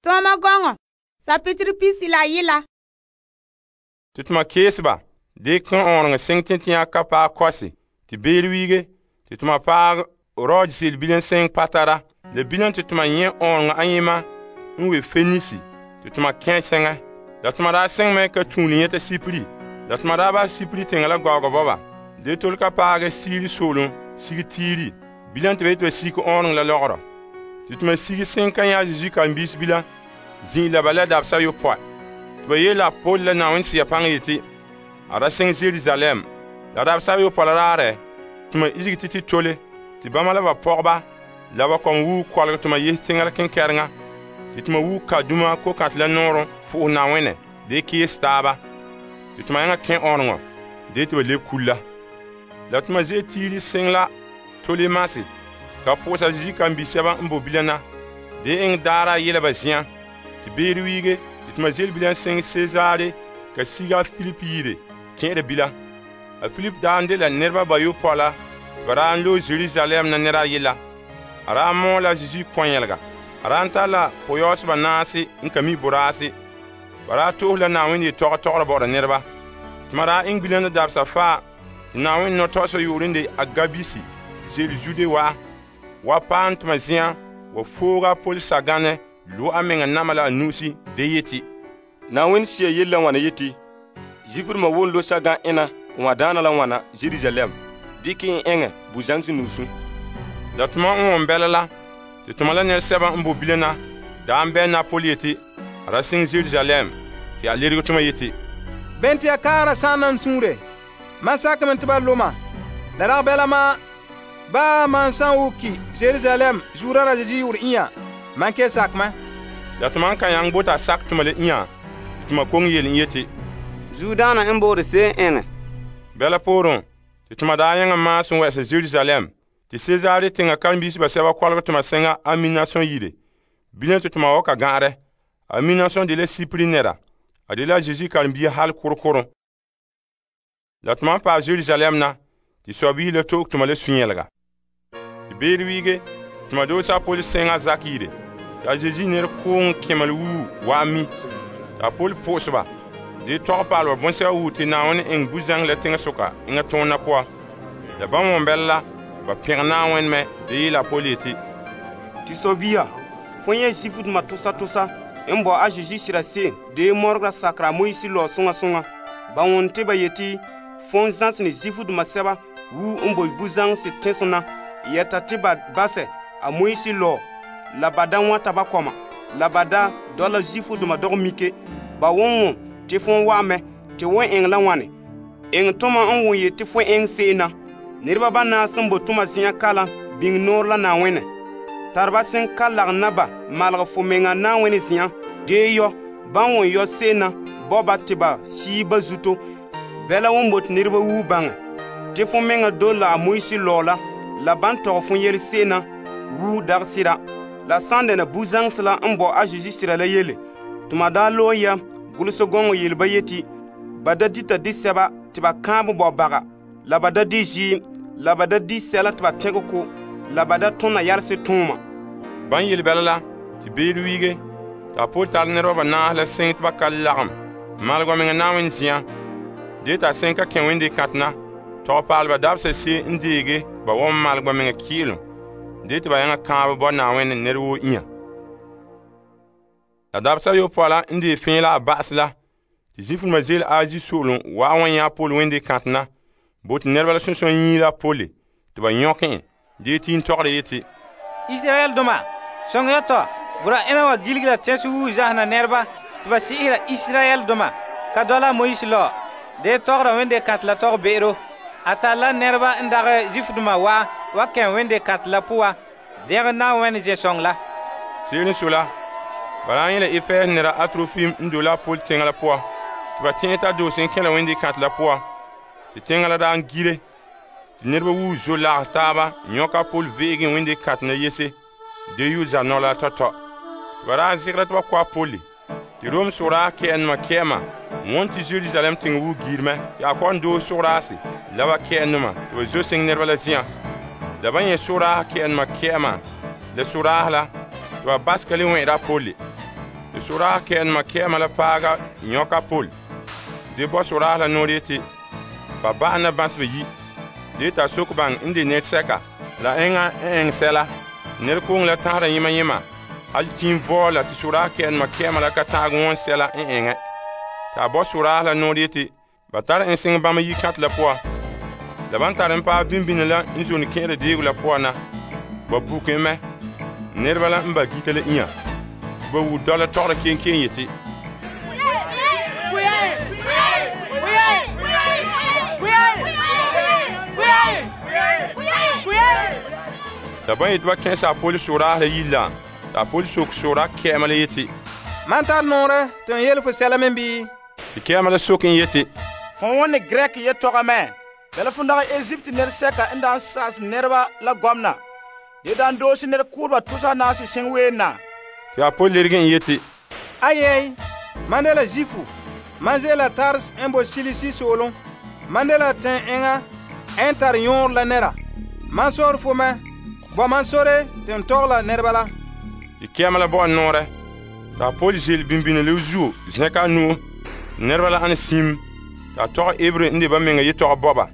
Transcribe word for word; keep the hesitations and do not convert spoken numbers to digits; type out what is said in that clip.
Toma gɔŋɔ, sapitiri pisi la yila. Tutuma keeseba, de kan ɔɔnrɔŋɔ seŋ tẽtẽa ka paɛ kɔse, te beer wiige, te tuma paɛ rɔɔd ze'ele bilam seŋ patara. Le bilam te tuma nyɛ ɔɔnrɔŋɔ ayema n we Fenisi, te tuma kɛn seŋɛ. La tuma daa seŋ mɛ ka tuule nyɛta Sipri. La tuma daa ba Sipri teŋa la gɔɔgɔ bɔba. De tole ka paagɛ Siiri soolom sige Tiiri. Bilam te ba yete ba sige ɔɔnrɔŋɔ la lɔgɔrɔ. Te tuma sige seŋ ka nyɛ Zeezi karen-biis bilam zin la ba la dabesa yopɔe. Te ba yeela Paul la Na'ayenɛ Sea paŋa yeti a da seŋ Yerusalem. La dabesa yopɔe la raarɛ tuma izige titi tole te bama la ba pɔgɔba la ba kɔm wu kɔlgɛ tuma yese teŋa la kenkɛreŋa. Te tuma wu kaduma ko-kantɛ la nɔɔrɔm po'ohɛ Na'ayenɛ de kees taaba. Te tuma yaŋa kẽ ɔɔnrɔŋɔ de te ba lebe kulla. La tuma ze'e Tiiri seŋ la Tolemasi ka pɔgɔsa Zeezi karen-bi-sɛba n bo bilam na de eŋɛ daara yela ba zen'an. Te beer wiige te tuma ze'ele bilam seŋ Sezaare ka siga Filip yire kẽ'ɛra bilam. A Filip daa n de la nɛreba bayopɔe la ba daa n loe Yerusalem na nɛra yella. A daa mɔɔ la Zeezi kɔnyɛlega. A daa n tare la pɔyɔɔseba naase n ka mi boraase. Ba daa to'ohe la Na'ayenɛ yetɔgɔ tɔgɔra bɔ'ɔra nɛreba. Tuma daa eŋɛ bilam la dabesa faa te Na'ayenɛ nɔtɔgɔsɔ yoore n de Agabisi ze'ele Zude wa wa paam tuma zen'an wa fooga Paul saganɛ lo a meŋa nama la a nu'usi de yeti, Na'ayenɛ Sea yele la ŋwana yeti, Zuifrema won lo sagan ena n wa daana la ŋwana Yerusalem, dikɛ en eŋɛ bu-zaŋse nuusu. La tuma n wɔn bɛla la, te tuma la nɛresɛba n bo bilam na daa n bɛ na Paul yeti a da seŋ Yerusalem, te a lerege tuma yeti, Bɛn te ya kaara sãanam suure? Man sakame te ba loma. La dag bɛla ma ba man san wuki Yerusalem zuura ra Zeezi yʋʋr ĩa man ke sakma. La tuma n kan yaŋ bota sak tuma le ĩa, tuma kong yele n yeti, Zuudaana n boore se'em eŋɛ. Bɛla pooren, te tuma daa yãŋa maas n wɛ'ɛsa Yerusalem, te Sezaare teŋa karen-biisi basɛba kɔlgɛ tuma seŋa Aminason yire. Bilam te tuma wa ka gã'arɛ. Aminason de la Sipri nɛra. A de la Zeezi karen-bia hal korkoron. La tuma n paɛ Yerusalem na, te sɔbiisi la to'oge tuma la sũ-yɛlega. Te beer wiige, tuma doosa Paul seŋa zak yire. Ta Zeezi nɛra koong kɛmɛ wuu wa mi. Ta Paul pʋʋseba de tɔgɛ paaleba bõn-sɛba wuu te Na'ayenɛ eŋɛ bu-zãŋ la teŋasoka eŋa tõona poa. La bãmb wɔn bɛla la, ba pẽg Na'ayenɛ mɛ de yeela Paul yeti, Tɩ sɔbia, fo yẽ Zuifduma tosa tosa n bɔ a Zeezi sira se'em de mɔrega sakera Moise lɔ sõŋa sõŋa. Ba wʋn tɩ ba yeti fõn zãsene Zuifduma sɛba wuu n bo bu-zãŋse tẽsem na yɛta tɩ ba basɛ a Moise lɔ la ba da wãta ba kɔma la ba da dɔla Zuifduma dɔg mike. Ba wʋn wʋm tɩ fõn wa mɛ tɩ wẽn eŋɛ la wãne. Eŋɛ tʋma n wʋn yetɩ fo eŋɛ se'em na. Niraba banaas sẽn bo tʋma zĩ'an kalam biŋ noor la Na'ayenɛ. Tarba sẽn ka lagem na ba malg fo meŋa Na'ayenɛ zĩ'an dee yɔ ban wʋn yɔ se'em na bɔ ba tɩ ba sii ba zuto. Bɛla wʋn bot niraba wuu baŋɛ tɩ fo meŋa dole la a Moise lɔ la la ban tɔg fo yɛl se'em na wuu dag sɩda. La sãn dɛna bu-zãŋse la n bɔ a Zeezi sira la yele. Tuma daa loe ya gʋlsɛ gɔŋɔ yel ba yeti ba da dita disɛba tɩ ba kãab bɔ baga, la ba da di zɩɩm, la ba da di sɛla tɩ ba tẽg ko, la ba da tõna yalse tõoma. Ban yel bɛla la, tɩ beer wiige, t'a Paul tare nɛreba banaas la seŋ tɩ ba ka lagem malg wa meŋa Na'ayenɛ zĩ'an. De t'a seŋ ka kẽ wẽnde kãtena, tɔg paalba dabsa se n deege ba wa malg wa meŋa kɩɩlem, de tɩ ba yãŋa kãab bɔ Na'ayenɛ nɛr woo ĩa. La dabsa yopɔe la n dee fẽe la a ba'as la, tɩ Zuifrema zeele Azi soolem wa wa yã Paul wẽnde kãtena, bo tɩ nɛreba la sõn-sõn yĩi la Paul tɩ ba yõk en de tɩ n tɔgre yeti, Israel doma, sõng ya tɔ, bura ẽna wa gilgra tẽs wuu zasena nɛreba tɩ ba sɩ'ɩsra Israel doma ka dɔla Moise lɔ de tɔgra wẽnde kãt la tɔg be'ero. A tar la nɛreba n dagɛ Zuifduma wa wa kẽ wẽnde kãt la pʋga dẽg Na'ayenɛ zɛ-sõng la. Seer n so la, ba raa yẽ la Efɛɛs nɛra Atrofim n do la Paul teŋa la pʋa tɩ ba tẽe t'a doose n kẽ la wẽnde kãt la pʋa. Tɩ teŋa la daa n gire tɩ niraba wuu zo lags taaba n yõka Paul ve'ege wẽnde kãt na yese de yu zanɔ la tɔ-tɔ. Tɩ ba daa zɩgra tɩ ba kɔ a Paul tɩ Rom sʋgraa kɛɛnema kɛɛma wõn tɩ Yerusalem teŋa wuu giirmɛ tɩ a kɔn doog sʋgraase la ba kɛɛnema tɩ ba zo seŋ nɛreba la zĩ'an. La ba yẽ sʋgraas kɛɛnema kɛɛma la sʋgraas la tɩ ba bas ka le wẽ'da a Paul. Te soraa kɛɛdema kɛɛma la paaga nyɔka Paul. De bɔ soraa la noor yeti, ba ba'an na bãseba yi. De ta sok baŋ n de nɛresɛka la eŋa n eŋɛ sɛla. Nɛrekooŋ la tãgera yema yema. Al tiim vɔɔ la te soraa kɛɛdema kɛɛma la ka ta'ak wɔn sɛla n eŋɛ. Ta bɔ soraa la noor yeti, ba tara en seŋ bãmba yi kãtɛ la poan. La ban tare n paɛ bimbini la n zone kẽere deego la poan na. Ba buke mɛ. Nɛreba la n ba gita la inya. Ba wu dɔla tɔgɔra kenkeen yeti, la ban yeti ba kẽesa a pol soraa la yil la. Ta a pol sok soraa kɛɛma la yeti, Man tar noore tɩ n yele fo sɛla men bii? tɩ kɛɛma la sok n yeti, fõ wõne Grɛk yetɔga mɛ. Bala fõ dagɛ Ezipt nɛresɛka n daan sa'as nɛreba la gɔmna. De daan doosi nɛrekooreba tusa naase seŋ ween na. tɩ a pol lerge n yeti, Ayɛy, man de la Zifu. Man ze'ela Tars n bo Silisi soolem. Man de la tẽn eŋa n tar yõor la nɛra. Man soor fo mɛ. Bɔ man sore tɩ n tɔg la nɛreba la. tɩ kɛɛma la bɔ'ɔ noorɛ. T'a pol zel bimbini le zuo zẽka a nu'o. Nɛreba la ane sim. T'a tɔgɛ Ebre n de ba menga yetɔgɔ bɔba.